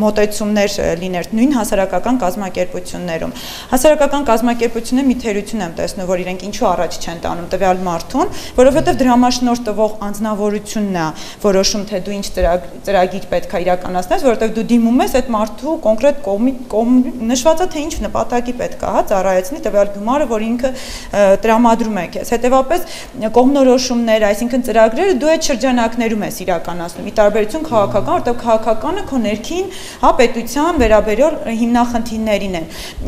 մոտեցումներ լիներ նույն հասարակական կազմակերպություններում։ Հասարակական կազմակերպությունները մի թերություն եմ տեսնում, որ իրենք ինչու առաջ չեն տանում տվյալ մարդուն, որովհետև դրամաշնորհ տվող անձնավորությունն է որոշում, թե դու ինչ ծրագիր պետք է իրականացնես, որովհետև դու դիմում ես այդ մարդու կոնկրետ նշվածը թե ինչ նպատակի պետք է ծառայեցնի տվյալ գումարը, որ ինքը տրամադրում է քեզ։ Հետևաբար կողմնորոշումներ, այսինքն ծրագրերը դու այդ շրջանակներում ես իրականացնում՝ ի տարբերություն քաղաքական, որտեղ քաղաքականը քո ներքին պետության վերաբերյալ հիմնախնդիրներին են։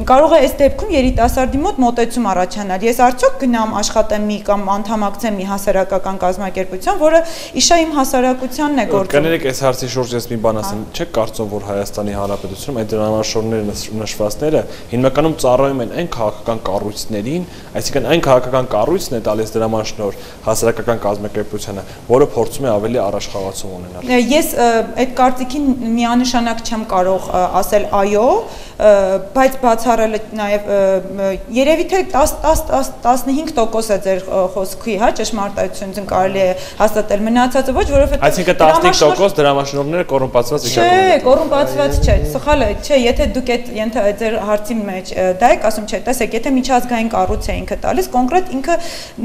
Կարող է այս դեպքում երիտասարդի մոտ մոտեցում առաջանալ։ Ես արդյոք գնամ աշխատեմ մի կամ անդամակցեմ մի հասարակական կազմակերպության, որը իշա իմ հասարակությանն է գործում։ Կներեք, այս հարցի շուրջ ես մի բան ասեմ, չեք կարծում, որ Հայաստանի Հանրապետությունում այդ դրամաշնորհները նշվածները հիմնականում ծառայում են այն քաղաքական կառույցներին, այսինքն այն քաղաքական կառույցն է տալիս դրամաշնորհ հասարակական կազմակերպությանը, որը փորձում է ավելի առաջխաղացում ունենալ։ Ես այդ կարծիքին միանշանակ չեմ կարող ասել այո, բայց բացառելը նաև երևի թե 10-15% է ձեր խոսքի, հա, ճշմարտությունն կարելի է հաստատել, մնացածը ոչ, որովհետև այսինքն 15% դրամաշնորհները կոռումպացված իրականություն։ Չէ, կոռումպացված չէ, սխալ է, չէ, եթե դուք այդ ձեր հարցի մեջ դա եք ասում, չէ, տեսեք, եթե միջազգային կառույց է ինքը տալիս, կոնկրետ ինքը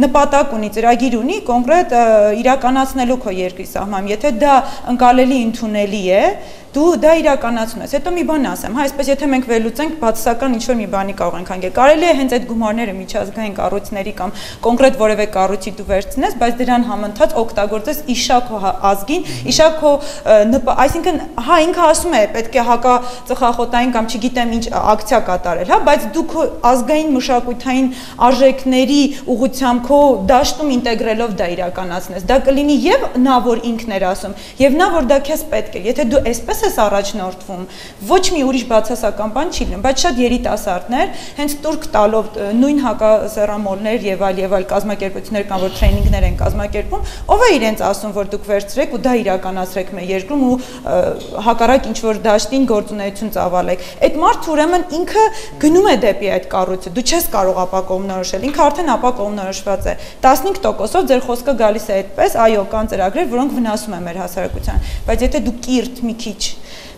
նպատակ ունի, ծրագիր ունի, կոնկրետ իրականացնելու քո երկրի սահմանում, եթե դա ընկալելի ընդունելի է, դու դա իրականացնում ես։ Հետո մի բան ասեմ, հա, այսպես եթե մենք վերլուծենք բացասական ինչ-որ մի բանի կարող ենք հանգել։ Կարելի է հենց այդ գումարները միջազգային կառույցների կամ կոնկրետ որևէ կառույցի դու վերցնես, բայց դրան համընթաց օգտագործես իշա քո ազգին, իշա քո այսինքն, հա, ինքը ասում է, պետք է հակածխախոտային կամ չգիտեմ ինչ ակցիա կատարել, հա, բայց դու քո ազգային մշակութային արժեքների ուղղությամբ քո դաշտում ինտեգրելով դա իրականացնես։ Դա կլինի եւ նա, որ ինքն էր ասում, եւ նա, որ դա քեզ պետք է։ Եթե դու այսպես ես առաջնորդվում, ոչ մի ուրիշ բացասական բան չի լինում, բայց շատ երիտասարդներ հենց տուրք տալով նույն հակասեռամոլներ եւ այլ կազմակերպություններ կան, որ տրեյնինգներ են կազմակերպում, ով է իրենց ասում, որ դուք վերցրեք ու դա իրականացրեք մեր երկրում ու հակառակ ինչ որ դաշտին գործունեություն ծավալեք։ Այդ մարդը ուրեմն ինքը գնում է դեպի այդ կառույցը, դու չես կարող ապա կողմնորոշել, ինքը արդեն ապա կողմնորոշված է։ 15%-ով ձեր խոսքը գալիս է այդպես, այո, կան ծրագրեր, որոնք վնասում են մեր հասարակության, բայց եթե դու կիրթ մի քիչ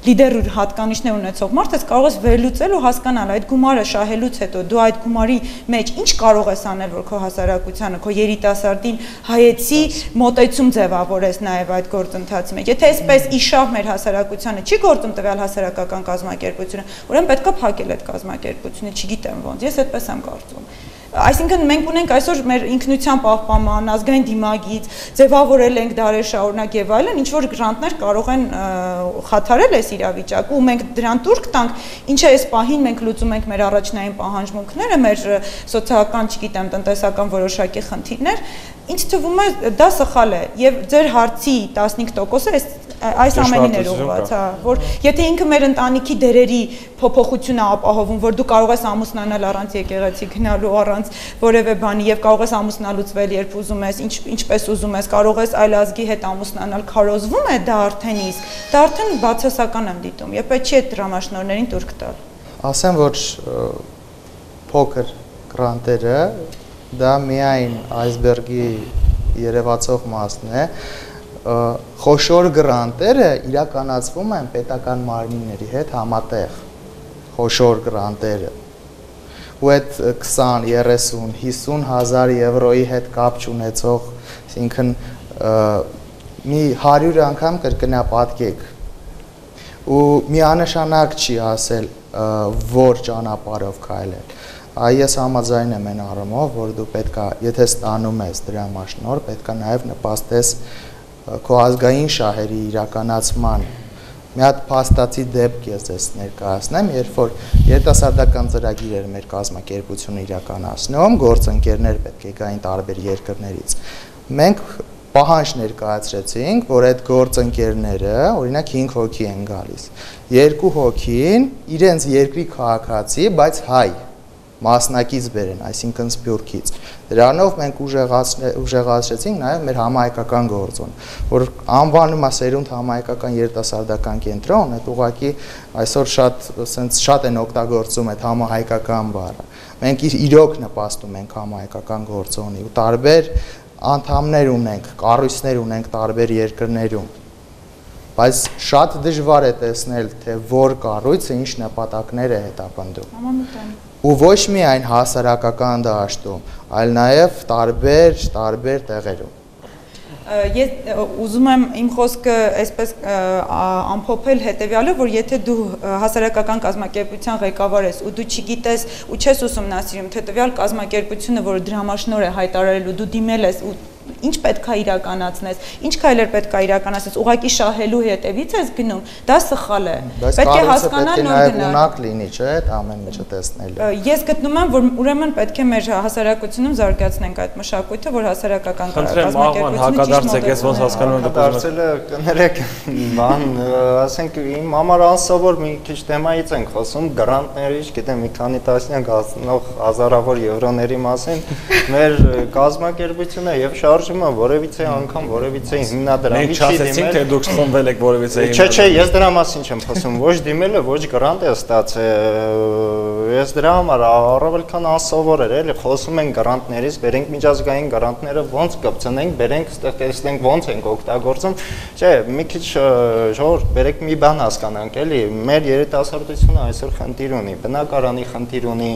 լիդեր հատկանիշներ ունեցող մարդ ես կարող ես վերլուծել ու հասկանալ այդ գումարը շահելուց հետո դու այդ գումարի մեջ ինչ կարող ես անել, որ քո հասարակությանը, քո երիտասարդին հայեցի մոտեցում ձևավորես նաև այդ գործընթացի մեջ։ Եթե այսպես իշավ մեր հասարակությանը չի գործում տվյալ հասարակական կազմակերպությունը, ուրեմն պետքա փակել այդ կազմակերպությունը, չգիտեմ ոնց, ես այդպես եմ կարծում։ Այսինքն մենք ունենք այսօր մեր ինքնության պահպանման, ազգային դիմագիծ, ձևավորել ենք դարեր շարունակ եւ այլն, ինչ որ գրանտներ կարող են խաթարել այս իրավիճակը ու մենք դրան տուրք տանք, ինչ է այս պահին մենք լուծում ենք մեր առաջնային պահանջմունքները, մեր սոցիալական, չգիտեմ, տնտեսական որոշակի խնդիրներ, ինձ թվում է դա սխալ է եւ ձեր հարցի 15%-ը այս ամենին էր ուղղված, հա, որ եթե ինքը մեր ընտանիքի դերերի փոփոխություն է ապահովում, որ դու կարող ես ամուսնանալ առանց եկեղեցի գնալու, առանց որևէ բանի եւ կարող ես ամուսնալուծվել, երբ ուզում ես, ինչպես ուզում ես, կարող ես այլ ազգի հետ ամուսնանալ, քարոզվում է դա արդեն իսկ, դա արդեն բացասական եմ դիտում, եւ պետք չի այդ դրամաշնորհներին տուրք տալ։ Ասեմ, որ փոքր գրանտերը դա միայն այսբերգի երևացող մասն է, խոշոր գրանտերը իրականացվում են պետական մարմինների հետ համատեղ, խոշոր գրանտերը, ու այդ 20, 30, 50 հազար եվրոյի հետ կապ չունեցող, այսինքն մի 100 անգամ կրկնապատկեք, ու միանշանակ չի ասել, որ ճանապարհով քայլել։ Ես համաձայն եմ այն առումով, որ դու պետքա, եթե ստանում ես դրամաշնորհ, պետքա նաև նպաստես քո ազգային շահերի իրականացման։ Մի հատ փաստացի դեպք ես ներկայացնեմ, երբ որ երիտասարդական ծրագիրեր մեր կազմակերպությունը իրականացնում, գործընկերներ պետք է գային տարբեր երկրներից։ Մենք պահանջ ներկայացրեցինք, որ այդ գործընկերները, օրինակ 5 հոգի են գալիս։ 2 հոգին իրենց երկրի քաղաքացի, բայց հայ մասնակից բերեն, այսինքն Սփյուռքից։ Դրանով մենք ուժեղացրեցինք նաև մեր համահայկական գործոն, որ անվանում է Սերունդ համահայկական երիտասարդական կենտրոն, այդ ուղղակի այսօր շատ են օգտագործում այդ համահայկական բառը։ Մենք իրոք նպաստում ենք համահայկական գործոնի ու տարբեր անդամներ ունենք, կառույցներ ունենք տարբեր երկրներում։ բայց շատ դժվար է տեսնել, թե որ կառույցը ինչ նպատակներ է հետապնդում։ Ու ոչ միայն հասարակական դաշտում, այլ նաև տարբեր տեղերում։ Ես ուզում եմ իմ խոսքը այսպես ամփոփել հետեւյալով, որ եթե դու հասարակական կազմակերպության ղեկավար ես ու դու չգիտես ու չես ուսումնասիրում, թե տվյալ կազմակերպությունը, որը դրամաշնորհ է հայտարարելու, դու դիմել ես ու ինչ պետք է իրականացնես, ինչ քայլեր պետք է իրականացնես, ուղղակի շահելու հետևից ես գնում, դա սխալ է։ Պետք է հասկանալ նոր գնալ։ Ունակ լինի, չէ՞, այդ ամեն ինչը տեսնելու։ Ես գտնում եմ, որ ուրեմն պետք է մեր հասարակությունում զարգացնենք այդ մշակույթը, որ հասարակական կազմակերպությունը ես ոնց հասկանում եմ դարձել է, կներեք, բան, ասենք իմ համար անսովոր մի քիչ թեմայից ենք խոսում, գրանտների, չգիտեմ, մի քանի տասնյակ հասնող հազարավոր եվրոների մասին, մեր կազմակերպությունը եւ շարժումը որևիցե անգամ որևիցե հիմնադրամի չի դիմել։ Թե դուք խմբել եք որևիցե Չէ, ես դրա մասին չեմ խոսում, ոչ դիմելը, ոչ գրանտ է ստացել։ Ես դրա համար առավել քան անսովոր էր, էլի խոսում են գրանտներից, բերենք միջազգային գրանտները ոնց կպցնենք, բերենք, ստեղ տեսնենք ոնց ենք օգտագործում։ Չէ, մի քիչ ժողովուրդ, բերեք մի բան հասկանանք, էլի, մեր երիտասարդությունը այսօր խնդիր ունի, բնակարանի խնդիր ունի,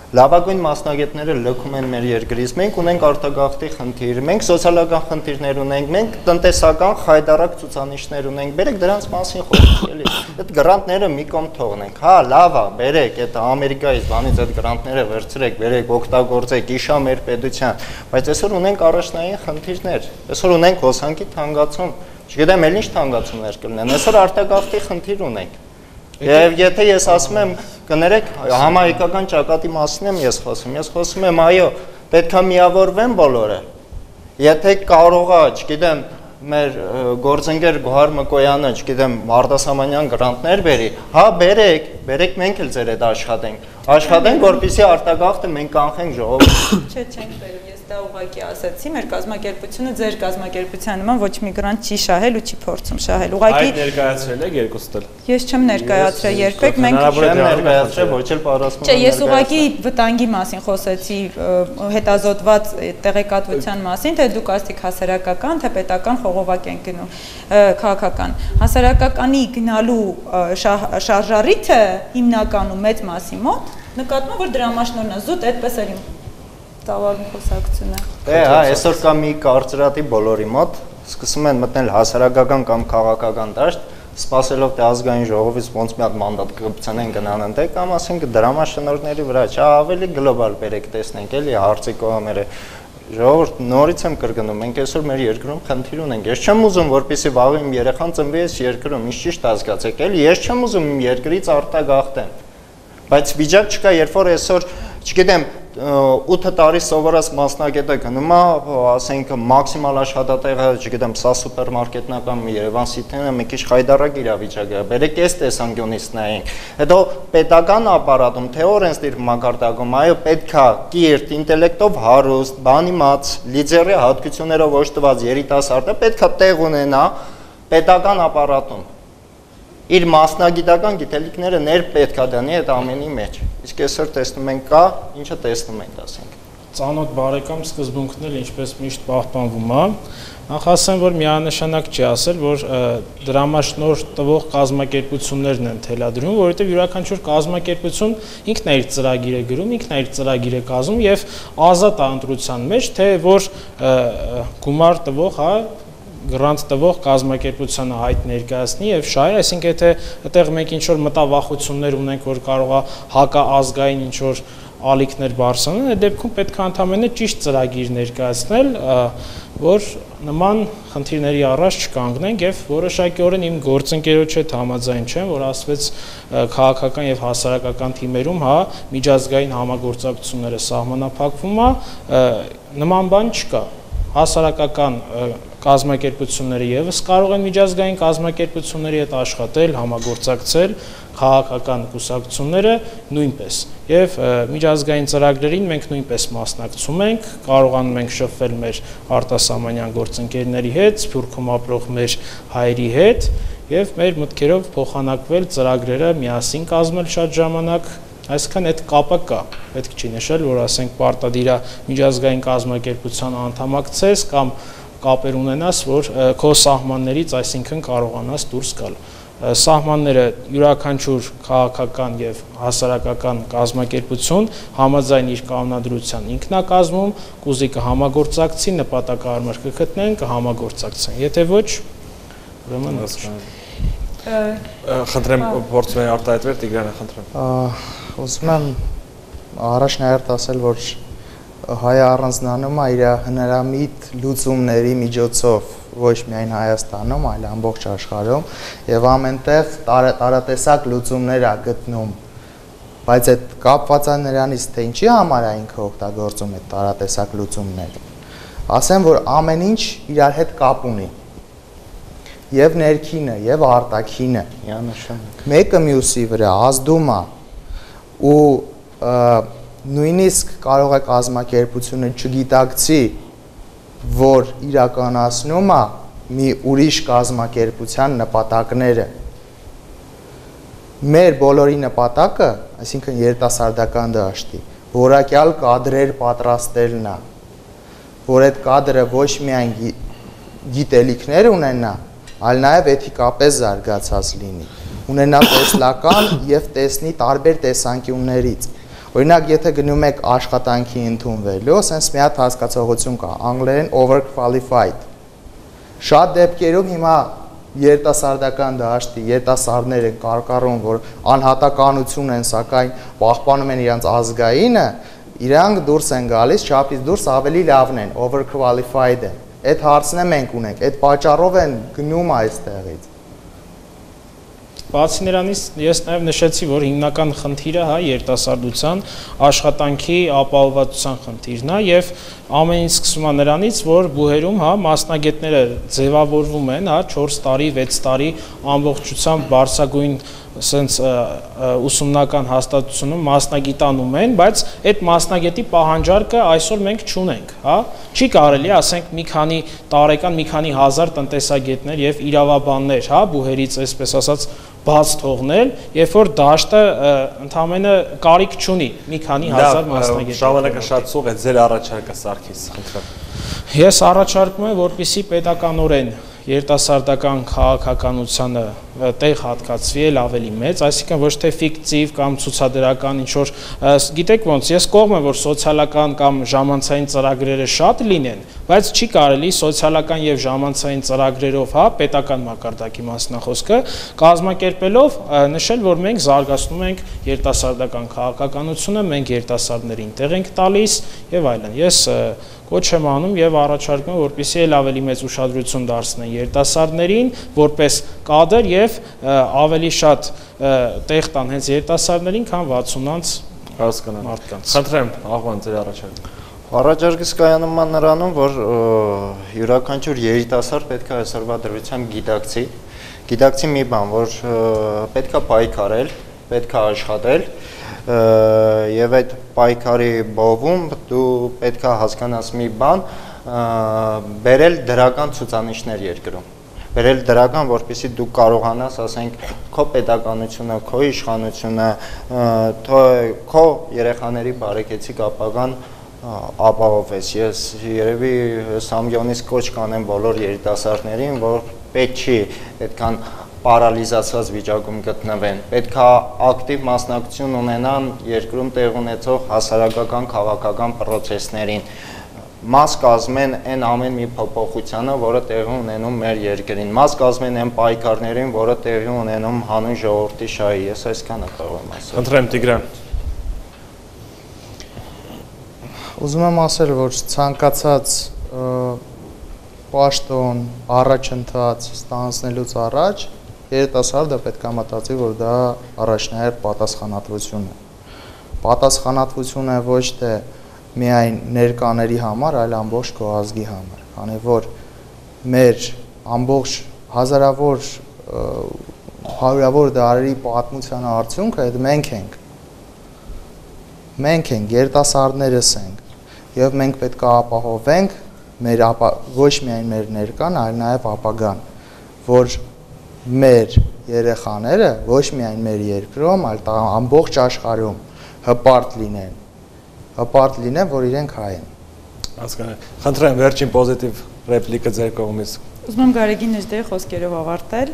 լավագույն մասնագետները լքում են մեր երկրից, մենք ունենք արտագաղթի խնդիր, մենք սոցիալական խնդիրներ ունենք, մենք տնտեսական խայտառակ ցուցանիշներ ունենք, բերեք դրանց մասին խոսենք, էլի։ Այդ գրանտները մի կողմ թողնենք։ Հա, լավ է, բերեք այդ Ամերիկայից բանից այդ գրանտները վերցրեք, բերեք, օգտագործեք, իշա մեր պետության, բայց այսօր ունենք առաջնային խնդիրներ։ Այսօր ունենք հոսանքի թանկացում, չգիտեմ, էլ ինչ թանկացումներ կլինեն։ Այսօր արտագաղթի խնդիր ունենք։ Եվ եթե ես ասում եմ, կներեք, համահայկական ճակատի մասին եմ ես խոսում եմ, այո, պետք է միավորվեն բոլորը։ Եթե կարող է, չգիտեմ, մեր գործընկեր Գոհար Մկոյանը, չգիտեմ, արտասահմանյան գրանտներ բերի, հա, բերեք մենք էլ ձեր հետ աշխատենք, որպեսզի արտագաղթը մենք կանխենք ժողովուրդ։ Չէ, չենք բերում, ես դա ուղղակի ասացի, մեր կազմակերպությունը ձեր կազմակերպության նման ոչ մի գրանտ չի շահել ու չի փորձում շահել։ Ուղղակի այդ ներկայացրել եք երկուստ էլ։ Ես չեմ ներկայացրել երբեք, մենք չեմ ներկայացրել, ոչ էլ պատասխանում։ Չէ, ես ուղղակի վտանգի մասին խոսեցի, հետազոտված տեղեկատվության մասին, թե դուք ասեք հասարակական, թե պետական խողովակ են գնում, քաղաքական։ Հասարակականի գնալու շարժառիթը հիմնականում մեծ մասի մոտ նկատվում է, որ դրամաշնորհն է զուտ, այդպես էլ տավարում խոսակցությունը։ Դե, հա, այսօր կա մի կարծրատի բոլորի մոտ, սկսում են մտնել հասարակական կամ քաղաքական դաշտ, սպասելով թե ազգային ժողովից ոնց մի հատ մանդատ կգցնեն գնան ընդ կամ ասենք դրամաշնորհների վրա, չէ, ավելի գլոբալ բերեք տեսնենք, էլի հարցի կողմերը։ Ժողովուրդ, նորից եմ կրկնում, մենք այսօր մեր երկրում խնդիր ունենք։ Ես չեմ ուզում, որպեսզի վաղը իմ երեխան ծնվի այս երկրում, ինչ ճիշտ հասկացեք, էլի, ես չեմ ուզում իմ երկրից արտագաղթեմ։ Բայց վիճակ չկա, երբ որ այսօր, չգիտեմ, 8 տարի սովորած մասնագետը գնում է, ասենք մաքսիմալ աշխատատեղը, չգիտեմ, սա սուպերմարկետն է կամ Երևան Սիթիը մի քիչ խայտառակ իրավիճակը, բերեք այս տեսանկյունից նայենք։ Հետո պետական ապարատում, թե օրենսդիր մակարդակում, այո, պետք է կիրթ, ինտելեկտով հարուստ, բանիմաց, լիդերի հատկություններով օժտված երիտասարդը պետք է տեղ ունենա պետական ապարատում։ Իր մասնագիտական գիտելիքները ներ պետք է դանի այդ ամենի մեջ։ Իսկ այսօր տեսնում ենք կա, ինչը տեսնում ենք, ասենք։ Ծանոթ բարեկամ սկզբունքն էլ ինչպես միշտ պահպանվում է։ Նախ ասեմ, որ միանշանակ չի ասել, որ դրամաշնորհ տվող կազմակերպություններն են թելադրում, որովհետև յուրաքանչյուր կազմակերպություն ինքն է իր ծրագիրը գրում, ինքն է իր ծրագիրը կազմում եւ ազատ է ընտրության մեջ, թե որ գումար տվող, հա, գրանտ տվող կազմակերպությանը հայտ ներկայացնի եւ շահի, այսինքն եթե այդտեղ մենք ինչ որ մտավախություններ ունենք, որ կարող է հակաազգային ինչ որ ալիքներ բարձրանալ, այդ դեպքում պետք է ընդհանրապես ճիշտ ծրագիր ներկայացնել, որ նման խնդիրների առաջ չկանգնենք եւ որոշակիորեն իմ գործընկերոջ հետ համաձայն չեմ, որ ասվեց քաղաքական եւ հասարակական թիմերում, հա, միջազգային համագործակցությունները սահմանափակվում է, նման բան չկա։ Հասարակական կազմակերպությունները եւս կարող են միջազգային կազմակերպությունների հետ աշխատել, համագործակցել, քաղաքական կուսակցությունները նույնպես։ Եվ միջազգային ծրագրերին մենք նույնպես մասնակցում ենք, կարողանում ենք շփվել մեր արտասահմանյան գործընկերների հետ, Սփյուռքում ապրող մեր հայերի հետ եւ մեր մտքերով փոխանակվել ծրագրերը միասին կազմել շատ ժամանակ։ Այսինքն այդ կապը կա, պետք չի նշել, որ ասենք պարտադիր է միջազգային կազմակերպության անդամակցես կամ կապեր ունենաս, որ քո սահմաններից, այսինքն կարողանաս դուրս գալ։ Սահմանները յուրաքանչյուր քաղաքական եւ հասարակական կազմակերպություն համաձայն իր կանոնադրության ինքն է կազմում, կուզի կհամագործակցի, նպատակահարմար կգտնեն, կհամագործակցեն։ Եթե ոչ, ուրեմն խնդրեմ փորձում եմ արտահայտվել Տիգրանը, խնդրեմ։ Ուզում եմ առաջ նաև ասել, որ հայը առանձնանում է իր հնարամիտ լուծումների միջոցով ոչ միայն Հայաստանում, այլ ամբողջ աշխարհում եւ ամենտեղ տարատեսակ լուծումներ է գտնում, բայց այդ կապված է նրանից, թե ինչի համար է ինքը օգտագործում այդ տարատեսակ լուծումները։ Ասեմ, որ ամեն ինչ իրար հետ կապ ունի։ Եվ ներքինը, եւ արտաքինը, մեկը մյուսի վրա ազդում է ու նույնիսկ կարող է կազմակերպությունը չգիտակցի, որ իրականացնում է մի ուրիշ կազմակերպության նպատակները։ Մեր բոլորի նպատակը, այսինքն երիտասարդական դաշտի, որակյալ կադրեր պատրաստելն է, որ այդ կադրը ոչ միայն գիտելիքներ ունենա, այլ նաև էթիկապես զարգացած լինի, ունենա տեսլական եւ տեսնի տարբեր տեսանկյուններից։ Օրինակ, եթե գնում եք աշխատանքի ընդունվելու, ասենց մի հատ հասկացողություն կա, անգլերեն overqualified։ Շատ դեպքերում հիմա երիտասարդական դաշտի երիտասարդները կարկառում, որ անհատականություն են, սակայն պահպանում են իրենց ազգայինը, իրանք դուրս են գալիս, չափից դուրս ավելի լավն են, overqualified են։ Այդ հարցն է մենք ունենք, այդ պատճառով են գնում այստեղից։ Բացի նրանից, ես նաև նշեցի, որ հիմնական խնդիրը երիտասարդության աշխատանքի ապահովվածության խնդիրն է եւ ամեն ինչ սկսում է նրանից, որ բուհերում մասնագետները ձևավորվում են 4 տարի, 6 տարի ամբողջությամբ բարձրագույն սենց ուսումնական հաստատությունում մասնագիտանում են, բայց այդ մասնագետի պահանջարկը այսօր մենք չունենք, չի կարելի, ասենք մի քանի տարեկան, մի քանի հազար տնտեսագետներ եւ իրավաբաններ, բուհերից այսպես ասած բաց թողնել, երբ որ դաշտը ընդամենը կարիք չունի մի քանի հազար մասնագետ։ Ժամանակը շատ սուղ է, ձեր առաջարկը Սարգիս, խնդրեմ։ Ես առաջարկում եմ, որպեսզի պետականորեն երիտասարդական քաղաքականությանը տեղ հատկացվի էլ ավելի մեծ, այսինքն ոչ թե ֆիկտիվ կամ ցուցադրական ինչ որ, գիտեք ոնց, ես կողմ եմ, որ սոցիալական կամ ժամանցային ծրագրերը շատ լինեն, բայց չի կարելի սոցիալական եւ ժամանցային ծրագրերով, պետական մակարդակի մասնախոսքը կազմակերպելով նշել, որ մենք զարգացնում ենք երիտասարդական քաղաքականությունը, մենք երիտասարդներին տեղ ենք տալիս եւ այլն։ Ես կոչ եմ անում եւ առաջարկում եմ, որպեսզի էլ ավելի մեծ ուշադրություն դարձնեն երիտասարդներին, որպես կադր եւ ավելի շատ տեղ տան հենց երիտասարդներին, քան 60-անց մարդկանց։ Խնդրեմ, Աղվան, ձեր առաջարկը։ Առաջարկս կայանում է նրանում, որ յուրաքանչյուր երիտասարդ պետք է այսօրվա դրությամբ գիտակցի մի բան, որ պետք է պայքարել, պետք է աշխատել եւ այդ պայքարի բովում դու պետք է հասկանաս մի բան, բերել դրական ցուցանիշներ երկրում, բերել դրական, որպեսզի դու կարողանաս, ասենք, քո պետականությունը, քո իշխանությունը, քո երեխաների բարեկեցիկ ապագան ապահովես։ Ես երևի Սամյոնից կոչ կանեմ բոլոր երիտասարդներին, որ պետք չի այդքան պարալիզացված վիճակում գտնվեն, պետք է ակտիվ մասնակցություն ունենան երկրում տեղ ունեցող հասարակական քաղաքական պրոցեսներին, մաս կազմեն այն ամեն մի փոփոխությանը, որը տեղի ունենում մեր երկրին, մաս կազմեն այն պայքարներին, որը տեղի ունենում հանուն ժողովրդի շահի։ Ես այսքանը կարող եմ ասել։ Խնդրեմ Տիգրան։ Ուզում եմ ասել, որ ցանկացած պաշտոն, առաջընթաց ստանձնելուց առաջ երիտասարդը պետք է մտածի, որ դա առաջնահերթ պատասխանատվություն է։ Պատասխանատվություն է ոչ թե միայն ներկաների համար, այլ ամբողջ քո ազգի համար, քանի որ մեր ամբողջ հազարավոր հարյուրավոր դարերի պատմության արդյունքը այդ մենք ենք, երիտասարդներս ենք, եւ մենք պետք է ապահովենք մեր ոչ միայն մեր ներկան, այլ նաեւ ապագան, որ մեր երեխաները ոչ միայն մեր երկրում, այլ ամբողջ աշխարհում հպարտ լինեն, որ իրենք հայ են։ Հասկանալի։ Խնդրեմ վերջին պոզիտիվ ռեպլիկը ձեր կողմից։ Ուզում եմ Գարեգին Նժդեի խոսքերով ավարտել։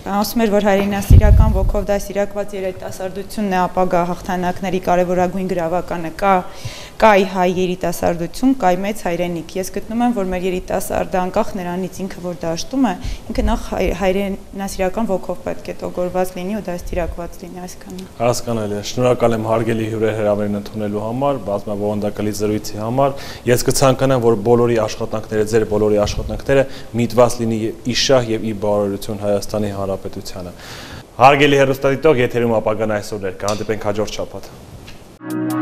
Ասում էր, որ հայրենասիրական ոգով դաստիարակված երիտասարդությունն է ապագա հաղթանակների կարևորագույն գրավականը, կա հայ երիտասարդություն, կա մեծ հայրենիք։ Ես գտնում եմ, որ մեր երիտասարդը անկախ նրանից ինքը որ դաշտում է, ինքը նախ հայրենասիրական ոգով պետք է տոգորված լինի ու դաստիարակված լինի այսքանը։ Հասկանալի է։ Շնորհակալ եմ հարգելի հյուրեր հրավերն ընդունելու համար, բազմաբովանդակալի զրույցի համար։ Ես կցանկանամ, որ բոլորի աշխատանքները, ձեր բոլորի աշխատանքները միտված լինի ի շահ եւ ի բարօրություն Հայաստանի Հանրապետությանը։ Հարգելի հեռուստադիտող, եթերում ապագան այսօր էր։ Կհանդիպենք հաջորդ շաբաթ։